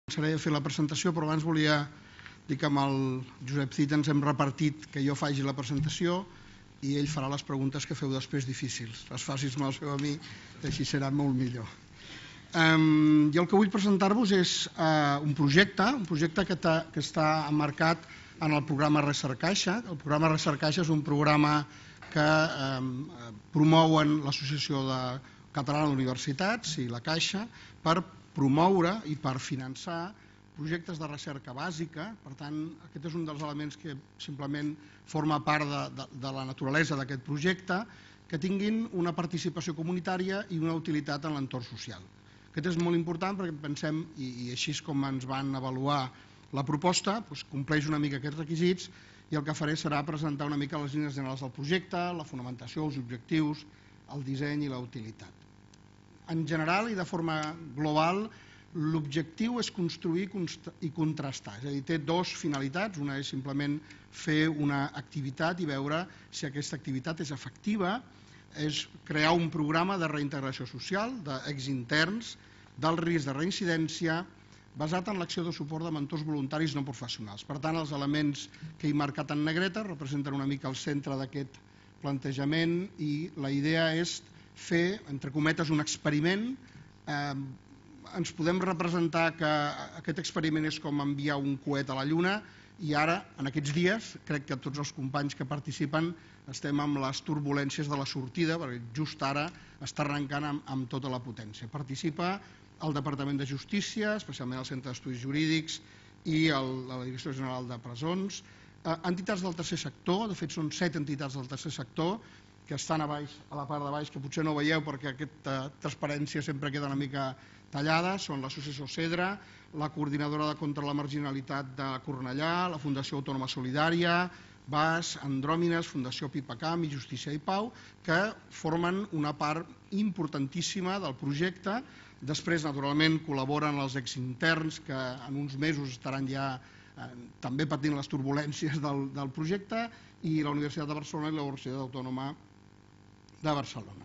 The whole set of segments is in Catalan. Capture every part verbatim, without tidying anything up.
Començaré a fer la presentació, però abans volia dir que amb el Josep Cid ens hem repartit que jo faci la presentació i ell farà les preguntes que feu després difícils. Les facis me les feu a mi, que així serà molt millor. Um, jo el que vull presentar-vos és uh, un projecte, un projecte que, que està emmarcat en el programa Recercaixa. El programa Recercaixa és un programa que um, promouen l'Associació Catalana d'Universitats i la Caixa per promoure i per finançar projectes de recerca bàsica. Per tant, aquest és un dels elements que simplement forma part de, de, de la naturalesa d'aquest projecte, que tinguin una participació comunitària i una utilitat en l'entorn social. Aquest és molt important perquè pensem, i, i així és com ens van avaluar la proposta, doncs compleix una mica aquests requisits, i el que faré serà presentar una mica les línies generals del projecte, la fonamentació, els objectius, el disseny i la utilitat. En general i de forma global, l'objectiu és construir i contrastar, és a dir, té dues finalitats. Una és simplement fer una activitat i veure si aquesta activitat és efectiva, és crear un programa de reintegració social d'exinterns del risc de reincidència basat en l'acció de suport de mentors voluntaris no professionals. Per tant, els elements que he marcat en negreta representen una mica el centre d'aquest plantejament i la idea és fer, entre cometes, un experiment. Eh, ens podem representar que aquest experiment és com enviar un coet a la Lluna i ara, en aquests dies, crec que tots els companys que participen estem amb les turbulències de la sortida, perquè just ara està arrencant amb, amb tota la potència. Participa el Departament de Justícia, especialment el Centre d'Estudis Jurídics i el, la Direcció General de Presons, eh, entitats del tercer sector, de fet són set entitats del tercer sector, que estan a baix, a la part de baix, que potser no veieu perquè aquesta transparència sempre queda una mica tallada. Són l'Associació Cedra, la Coordinadora contra la Marginalitat de Cornellà, la Fundació Autònoma Solidària, B A S, Andròmines, Fundació Pipacam i Justícia i Pau, que formen una part importantíssima del projecte. Després, naturalment, col·laboren els exinterns, que en uns mesos estaran ja eh, també patint les turbulències del, del projecte, i la Universitat de Barcelona i la Universitat Autònoma de Barcelona.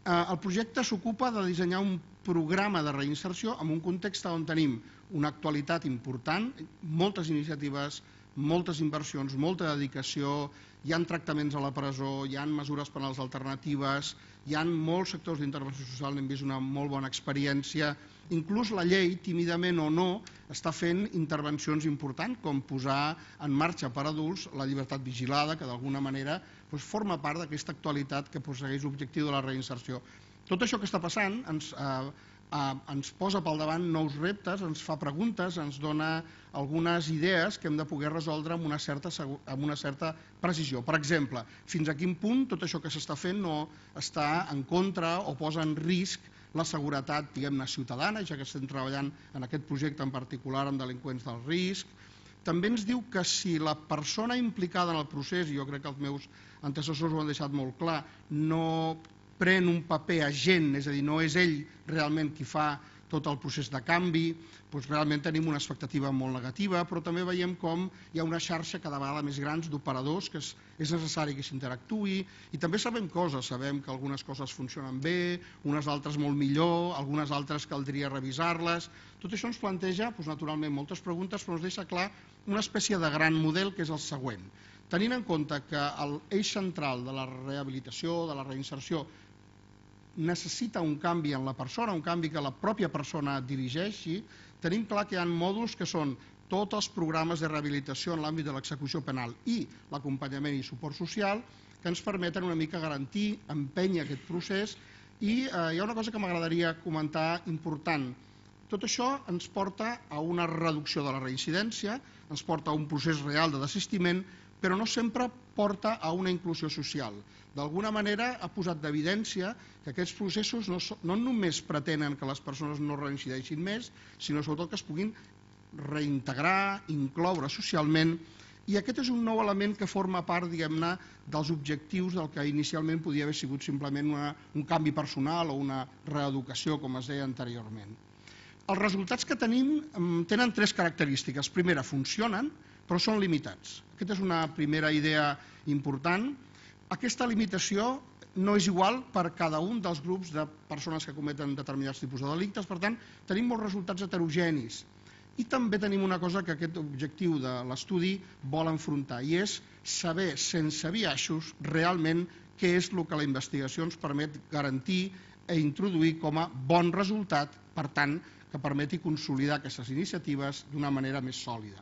El projecte s'ocupa de dissenyar un programa de reinserció en un context on tenim una actualitat important, moltes iniciatives, moltes inversions, molta dedicació, hi ha tractaments a la presó, hi ha mesures penals alternatives, hi ha molts sectors d'intervenció social, n'hem vist una molt bona experiència. Inclús la llei, tímidament o no, està fent intervencions importants, com posar en marxa per adults la llibertat vigilada, que d'alguna manera doncs, forma part d'aquesta actualitat que persegueix l'objectiu de la reinserció. Tot això que està passant ens, eh, eh, ens posa pel davant nous reptes, ens fa preguntes, ens dona algunes idees que hem de poder resoldre amb una certa, amb una certa precisió. Per exemple, fins a quin punt tot això que s'està fent no està en contra o posa en risc la seguretat, diguem-ne, ciutadana, ja que estem treballant en aquest projecte en particular amb delinqüents del risc. També ens diu que si la persona implicada en el procés, i jo crec que els meus antecessors ho han deixat molt clar, no pren un paper agent, és a dir, no és ell realment qui fa tot el procés de canvi, doncs realment tenim una expectativa molt negativa, però també veiem com hi ha una xarxa cada vegada més gran d'operadors que és, és necessari que s'interactuï, i també sabem coses, sabem que algunes coses funcionen bé, unes altres molt millor, algunes altres caldria revisar-les. Tot això ens planteja, doncs, naturalment, moltes preguntes, però ens deixa clar una espècie de gran model que és el següent. Tenint en compte que l'eix central de la rehabilitació, de la reinserció, necessita un canvi en la persona, un canvi que la pròpia persona dirigeixi, tenim clar que hi ha mòduls que són tots els programes de rehabilitació en l'àmbit de l'execució penal i l'acompanyament i suport social, que ens permeten una mica garantir, empènyer aquest procés, i eh, hi ha una cosa que m'agradaria comentar important. Tot això ens porta a una reducció de la reincidència, ens porta a un procés real de desistiment, però no sempre porta a una inclusió social. D'alguna manera ha posat d'evidència que aquests processos no, no només pretenen que les persones no reincideixin més, sinó sobretot que es puguin reintegrar, incloure socialment, i aquest és un nou element que forma part, diguem-ne, dels objectius del que inicialment podia haver sigut simplement una, un canvi personal o una reeducació, com es deia anteriorment. Els resultats que tenim tenen tres característiques. Primera, funcionen, però són limitats. Aquesta és una primera idea important. Aquesta limitació no és igual per cada un dels grups de persones que cometen determinats tipus de delictes, per tant, tenim molts resultats heterogenis. I també tenim una cosa que aquest objectiu de l'estudi vol enfrontar, i és saber, sense biaixos, realment què és el que la investigació ens permet garantir i introduir com a bon resultat, per tant, que permeti consolidar aquestes iniciatives d'una manera més sòlida.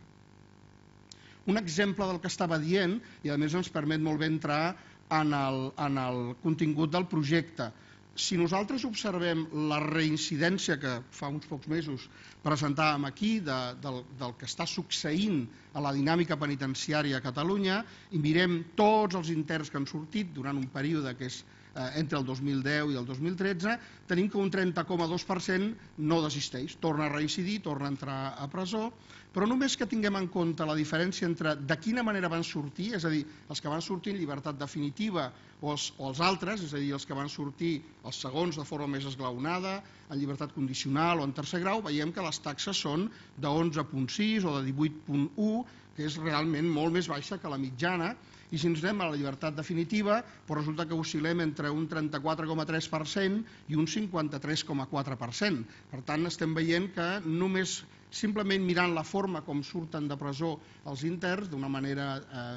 Un exemple del que estava dient, i a més ens permet molt bé entrar en el, en el contingut del projecte. Si nosaltres observem la reincidència que fa uns pocs mesos presentàvem aquí de, del, del que està succeint a la dinàmica penitenciària a Catalunya i mirem tots els interns que han sortit durant un període que és eh, entre el dos mil deu i el dos mil tretze, tenim que un trenta coma dos per cent no desisteix, torna a reincidir, torna a entrar a presó, però només que tinguem en compte la diferència entre de quina manera van sortir, és a dir, els que van sortir en llibertat definitiva o els, o els altres, és a dir, els que van sortir els segons de forma més esglaonada, en llibertat condicional o en tercer grau, veiem que les taxes són de onze coma sis o de divuit coma u, que és realment molt més baixa que la mitjana, i si ens anem a la llibertat definitiva, doncs resulta que oscil·lem entre un trenta-quatre coma tres per cent i un cinquanta-tres coma quatre per cent. Per tant, estem veient que només simplement mirant la forma com surten de presó els interns d'una manera eh,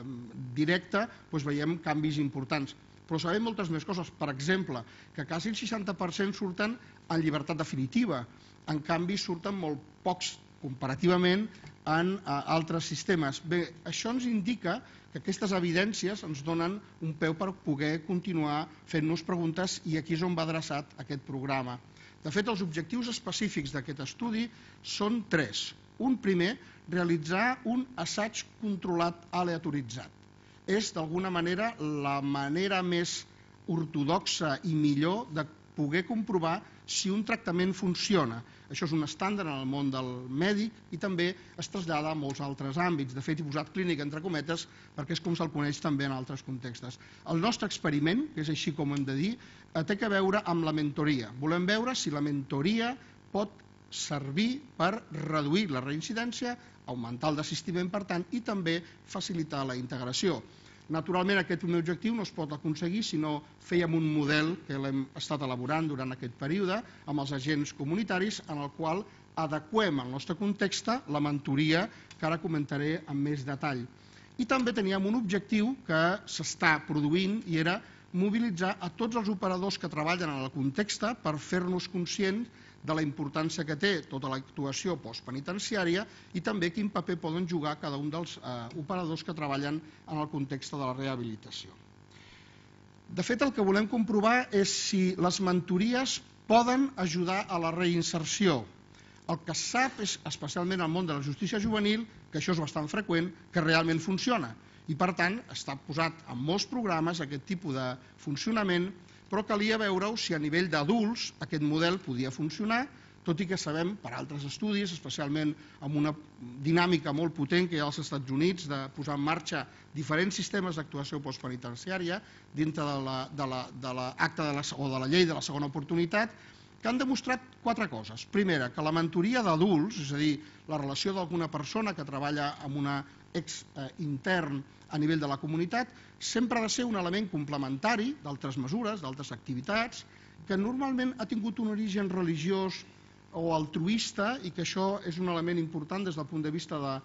directa, doncs veiem canvis importants. Però sabem moltes més coses. Per exemple, que quasi el seixanta per cent surten en llibertat definitiva. En canvi, surten molt pocs comparativament en eh, altres sistemes. Bé, això ens indica que aquestes evidències ens donen un peu per poder continuar fent-nos preguntes, i aquí és on va adreçat aquest programa. De fet, els objectius específics d'aquest estudi són tres. Un primer, realitzar un assaig controlat aleatoritzat. És, d'alguna manera, la manera més ortodoxa i millor de poder comprovar si un tractament funciona. Això és un estàndard en el món del mèdic i també es trasllada a molts altres àmbits. De fet, he posat clínic entre cometes perquè és com se'l coneix també en altres contextos. El nostre experiment, que és així com hem de dir, té a veure amb la mentoria. Volem veure si la mentoria pot servir per reduir la reincidència, augmentar el desistiment, per tant, i també facilitar la integració. Naturalment, aquest primer objectiu no es pot aconseguir si no fèiem un model que l'hem estat elaborant durant aquest període amb els agents comunitaris, en el qual adequem al nostre context la mentoria, que ara comentaré amb més detall. I també teníem un objectiu que s'està produint i era mobilitzar a tots els operadors que treballen en el context per fer-nos conscients de la importància que té tota l'actuació postpenitenciària i també quin paper poden jugar cada un dels eh, operadors que treballen en el context de la rehabilitació. De fet, el que volem comprovar és si les mentories poden ajudar a la reinserció. El que es sap és, especialment al món de la justícia juvenil, que això és bastant freqüent, que realment funciona. I, per tant, està posat en molts programes aquest tipus de funcionament, però calia veure si a nivell d'adults aquest model podia funcionar, tot i que sabem per altres estudis, especialment amb una dinàmica molt potent que hi ha als Estats Units de posar en marxa diferents sistemes d'actuació postpenitenciària dintre de l'acte o de la llei de la segona oportunitat, que han demostrat quatre coses. Primera, que la mentoria d'adults, és a dir, la relació d'alguna persona que treballa amb un ex-intern a nivell de la comunitat, sempre ha de ser un element complementari d'altres mesures, d'altres activitats, que normalment ha tingut un origen religiós o altruista i que això és un element important des del punt de vista de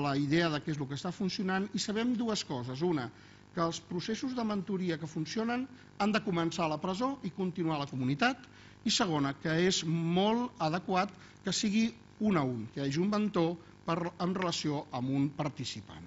la idea de què és el que està funcionant. I sabem dues coses. Una, que els processos de mentoria que funcionen han de començar a la presó i continuar a la comunitat. I segona, que és molt adequat que sigui un a un, que hi hagi un mentor en relació amb un participant.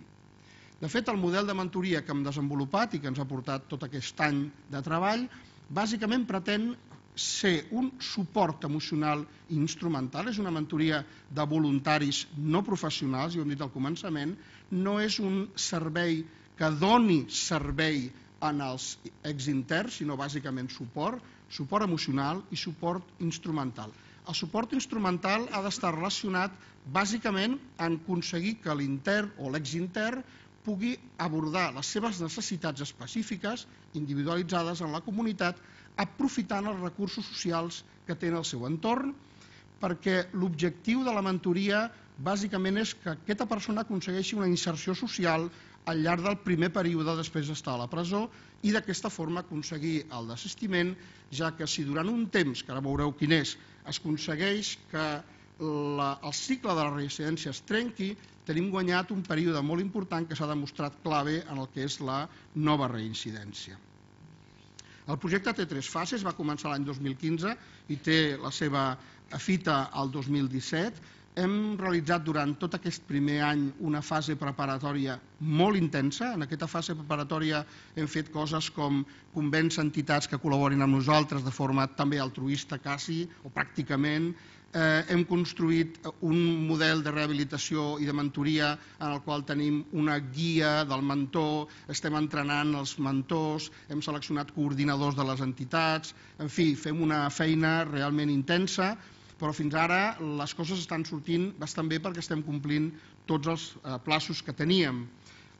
De fet, el model de mentoria que hem desenvolupat i que ens ha portat tot aquest any de treball, bàsicament pretén ser un suport emocional i instrumental, és una mentoria de voluntaris no professionals, i ho hem dit al començament, no és un servei que doni servei als exinterns, sinó bàsicament suport, suport emocional i suport instrumental. El suport instrumental ha d'estar relacionat bàsicament en aconseguir que l'intern o l'exintern pugui abordar les seves necessitats específiques, individualitzades en la comunitat, aprofitant els recursos socials que té en el seu entorn, perquè l'objectiu de la mentoria bàsicament és que aquesta persona aconsegueixi una inserció social al llarg del primer període després d'estar a la presó i d'aquesta forma aconseguir el desistiment, ja que si durant un temps, que ara veureu quin és, es aconsegueix que el cicle de la reincidència es trenqui, tenim guanyat un període molt important que s'ha demostrat clave en el que és la nova reincidència. El projecte té tres fases, va començar l'any dos mil quinze i té la seva fita al dos mil disset. Hem realitzat durant tot aquest primer any una fase preparatòria molt intensa. En aquesta fase preparatòria hem fet coses com convèncer entitats que col·laborin amb nosaltres de forma també altruista quasi, o pràcticament. Hem construït un model de rehabilitació i de mentoria en el qual tenim una guia del mentor, estem entrenant els mentors, hem seleccionat coordinadors de les entitats, en fi, fem una feina realment intensa, però fins ara les coses estan sortint bastant bé perquè estem complint tots els plaços que teníem.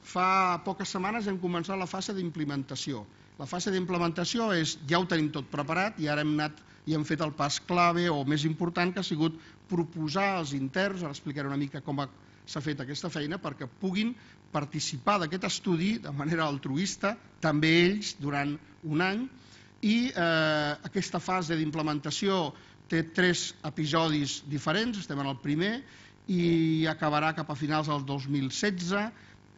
Fa poques setmanes hem començat la fase d'implementació. La fase d'implementació és, ja ho tenim tot preparat i ara hem anat i hem fet el pas clave o més important, que ha sigut proposar als interns, ara explicaré una mica com s'ha fet aquesta feina, perquè puguin participar d'aquest estudi de manera altruista, també ells, durant un any, i aquesta fase d'implementació té tres episodis diferents, estem en el primer, i acabarà cap a finals del dos mil setze,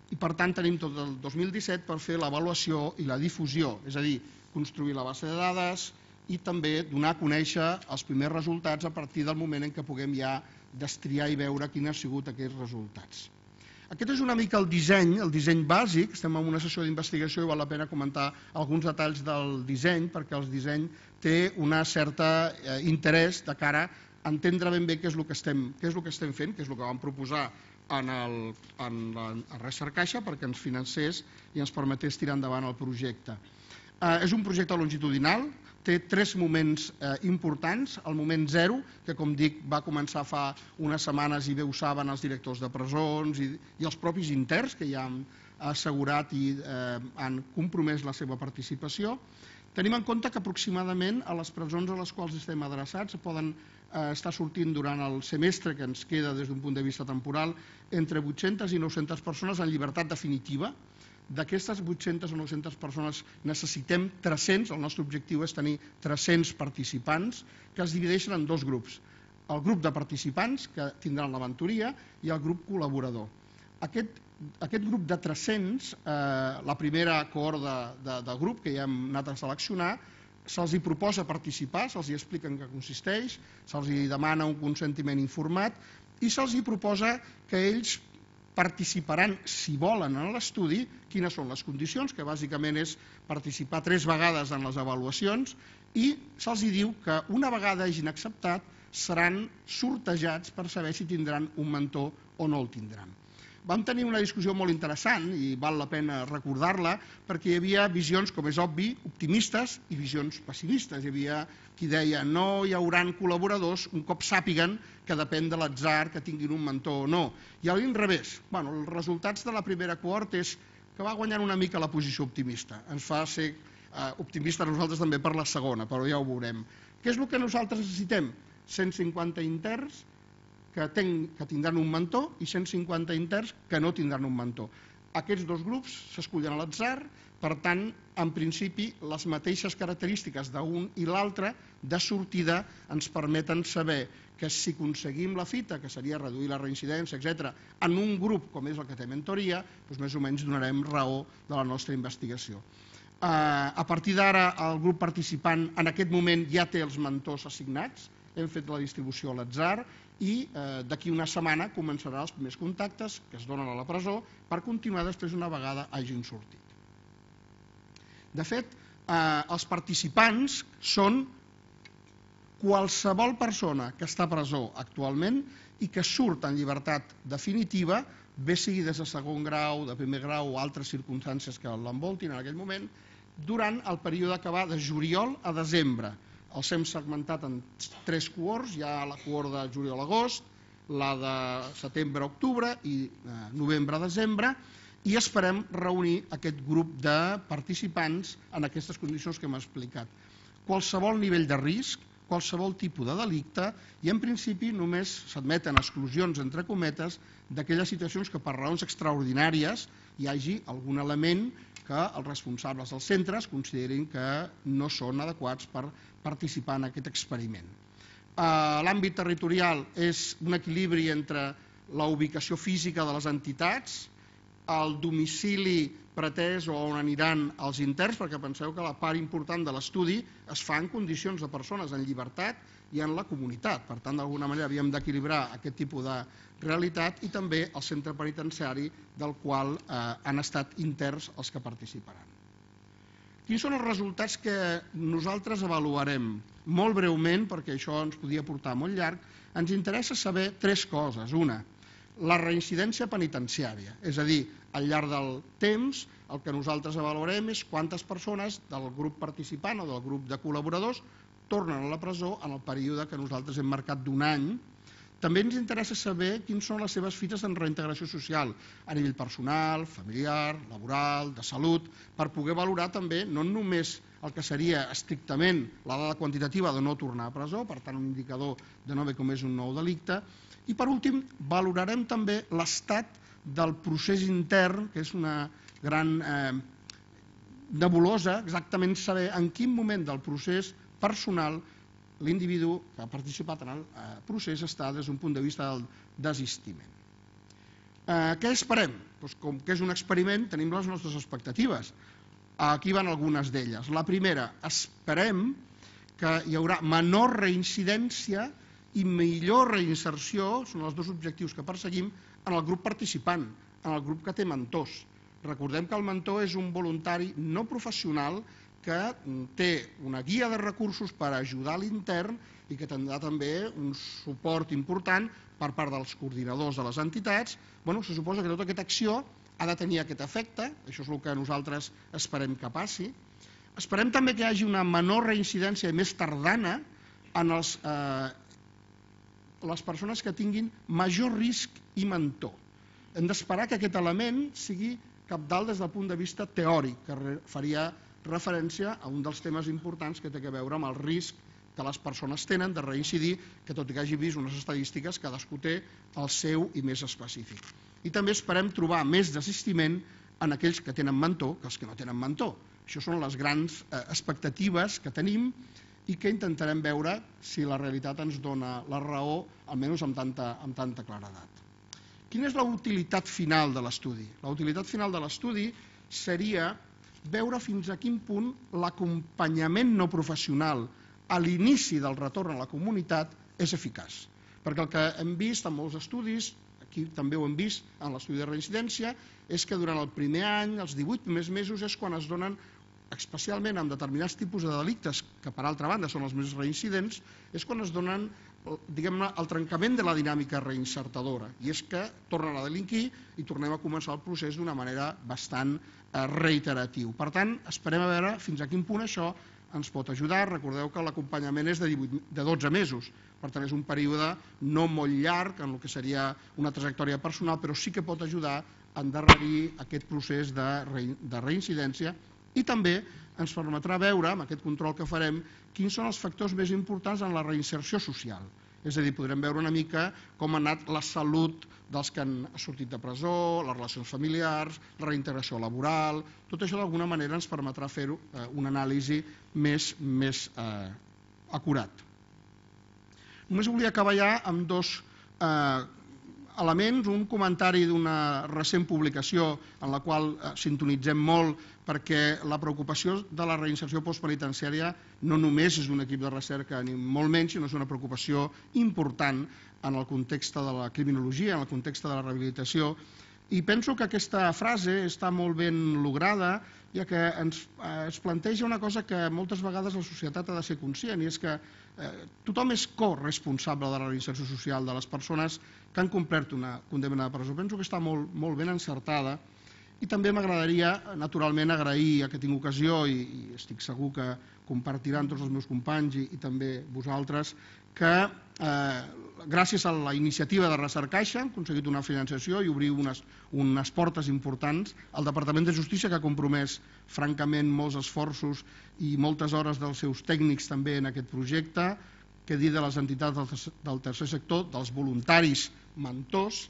i per tant tenim tot el dos mil disset per fer l'avaluació i la difusió, és a dir, construir la base de dades i també donar a conèixer els primers resultats a partir del moment en què puguem ja destriar i veure quins han sigut aquests resultats. Aquest és una mica el disseny, el disseny bàsic. Estem en una sessió d'investigació i val la pena comentar alguns detalls del disseny perquè el disseny té un cert interès de cara a entendre ben bé què és el que estem, què és el que estem fent, què és el que vam proposar en el, en la Recercaixa perquè ens financés i ens permetés tirar endavant el projecte. Eh, és un projecte longitudinal, té tres moments eh, importants. El moment zero, que com dic va començar fa unes setmanes i bé ho saben els directors de presons i, i els propis interns que ja han assegurat i eh, han compromès la seva participació. Tenim en compte que aproximadament a les presons a les quals estem adreçats poden eh, estar sortint durant el semestre que ens queda des d'un punt de vista temporal entre vuit-centes i nou-centes persones en llibertat definitiva. D'aquestes vuit-centes o nou-centes persones necessitem tres-cents, el nostre objectiu és tenir tres-cents participants que es divideixen en dos grups. El grup de participants que tindran la mentoria i el grup col·laborador. Aquest, aquest grup de tres-cents, eh, la primera cohort de, de, de grup que ja hem anat a seleccionar, se'ls hi proposa participar, se'ls hi explica en què consisteix, se'ls hi demana un consentiment informat i se'ls hi proposa que ells participaran, si volen, en l'estudi, quines són les condicions, que bàsicament és participar tres vegades en les avaluacions, i se'ls diu que una vegada hagin acceptat seran sortejats per saber si tindran un mentor o no el tindran. Vam tenir una discussió molt interessant i val la pena recordar-la perquè hi havia visions, com és obvi, optimistes i visions pessimistes. Hi havia qui deia no hi haurà col·laboradors un cop sàpiguen que depèn de l'atzar que tinguin un mentor o no. I a l'inrevés, bueno, els resultats de la primera cohort és que va guanyant una mica la posició optimista. Ens fa ser eh, optimistes nosaltres també per la segona, però ja ho veurem. Què és el que nosaltres necessitem? cent cinquanta interns que, ten, que tindran un mentor i cent cinquanta interns que no tindran un mentor. Aquests dos grups s'escullen a l'atzar, per tant, en principi, les mateixes característiques d'un i l'altre de sortida ens permeten saber que si aconseguim la fita, que seria reduir la reincidència, etcètera, en un grup com és el que té mentoria, doncs més o menys donarem raó de la nostra investigació. A partir d'ara, el grup participant en aquest moment ja té els mentors assignats, hem fet la distribució a l'atzar i eh, d'aquí una setmana començaran els primers contactes que es donen a la presó per continuar després una vegada hagin sortit. De fet, eh, els participants són qualsevol persona que està a presó actualment i que surt en llibertat definitiva, bé sigui des de segon grau, de primer grau o altres circumstàncies que l'envoltin en aquell moment, durant el període que va de juliol a desembre. Els hem segmentat en tres cohorts, hi ha la cohort de juliol-agost, la de setembre-octubre i eh, novembre-desembre, i esperem reunir aquest grup de participants en aquestes condicions que hem explicat. Qualsevol nivell de risc, qualsevol tipus de delicte, i en principi només s'admeten exclusions, entre cometes, d'aquelles situacions que per raons extraordinàries hi hagi algun element que els responsables dels centres considerin que no són adequats per participar en aquest experiment. L'àmbit territorial és un equilibri entre la ubicació física de les entitats, el domicili pretès o on aniran els interns, perquè penseu que la part important de l'estudi es fa en condicions de persones en llibertat i en la comunitat. Per tant, d'alguna manera havíem d'equilibrar aquest tipus de realitat i també el centre penitenciari del qual han estat interns els que participaran. Quins són els resultats que nosaltres avaluarem? Molt breument, perquè això ens podia portar molt llarg, ens interessa saber tres coses. Una, la reincidència penitenciària, és a dir, al llarg del temps el que nosaltres avaluarem és quantes persones del grup participant o del grup de col·laboradors tornen a la presó en el període que nosaltres hem marcat d'un any. També ens interessa saber quins són les seves fites en reintegració social, a nivell personal, familiar, laboral, de salut, per poder valorar també no només el que seria estrictament la dada quantitativa de no tornar a presó, per tant un indicador de no haver comès un nou delicte, i per últim valorarem també l'estat del procés intern, que és una gran nebulosa, exactament saber en quin moment del procés personal l'individu que ha participat en el procés està des d'un punt de vista del desistiment. Què esperem? Com que és un experiment, tenim les nostres expectatives. Aquí van algunes d'elles. La primera, esperem que hi haurà menor reincidència i millor reinserció, són els dos objectius que perseguim, en el grup participant, en el grup que té mentors. Recordem que el mentor és un voluntari no professional que té una guia de recursos per ajudar l'intern i que tindrà també un suport important per part dels coordinadors de les entitats. Se suposa que tota aquesta acció ha de tenir aquest efecte, això és el que nosaltres esperem que passi. Esperem també que hi hagi una menor reincidència i més tardana en les persones que tinguin major risc i mentor. Hem d'esperar que aquest element sigui cabdal des del punt de vista teòric, que faria referència a un dels temes importants que té a veure amb el risc que les persones tenen de reincidir, que tot i que hagi vist unes estadístiques, cadascú té el seu i més específic. I també esperem trobar més desistiment en aquells que tenen mentor que els que no tenen mentor. Això són les grans expectatives que tenim i que intentarem veure si la realitat ens dona la raó, almenys amb tanta claredat. Quina és la utilitat final de l'estudi? La utilitat final de l'estudi seria veure fins a quin punt l'acompanyament no professional a l'inici del retorn a la comunitat és eficaç. Perquè el que hem vist en molts estudis, aquí també ho hem vist en l'estudi de reincidència, és que durant el primer any, els divuit primers mesos, és quan es donen, especialment amb determinats tipus de delictes, que per altra banda són els més reincidents, és quan es donen diguem-ne, el trencament de la dinàmica reinsertadora, i és que tornen a delinquir i tornem a començar el procés d'una manera bastant reiteratiu. Per tant, esperem a veure fins a quin punt això ens pot ajudar. Recordeu que l'acompanyament és de dotze mesos, per tant és un període no molt llarg en el que seria una trajectòria personal, però sí que pot ajudar a endarrerir aquest procés de reincidència i també ens permetrà veure, amb aquest control que farem, quins són els factors més importants en la reinserció social. És a dir, podrem veure una mica com ha anat la salut dels que han sortit de presó, les relacions familiars, la reintegració laboral. Tot això d'alguna manera ens permetrà fer una anàlisi més acurat. Només volia acabar ja amb dos elements, un comentari d'una recent publicació en la qual sintonitzem molt perquè la preocupació de la reinserció postpenitenciària no només és d'un equip de recerca ni molt menys, sinó és una preocupació important en el context de la criminologia, en el context de la rehabilitació. I penso que aquesta frase està molt ben lograda, ja que ens planteja una cosa que moltes vegades la societat ha de ser conscient, i és que tothom és corresponsable de la reinserció social de les persones que han complert una condemna de presó. Penso que està molt ben encertada i també m'agradaria, naturalment, agrair a que tinc ocasió, i estic segur que compartiran tots els meus companys i també vosaltres, que gràcies a la iniciativa de Recercaixa hem aconseguit una financiació i obrir unes portes importants. El Departament de Justícia, que ha compromès francament molts esforços i moltes hores dels seus tècnics també en aquest projecte, que dir de les entitats del tercer sector, dels voluntaris mentors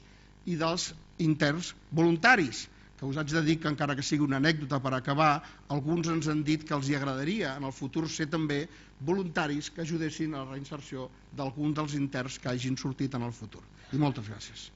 i dels interns voluntaris, que us haig de dir que, encara que sigui una anècdota per acabar, alguns ens han dit que els hi agradaria en el futur ser també voluntaris que ajudessin a la reinserció d'algun dels interns que hagin sortit en el futur. I moltes gràcies.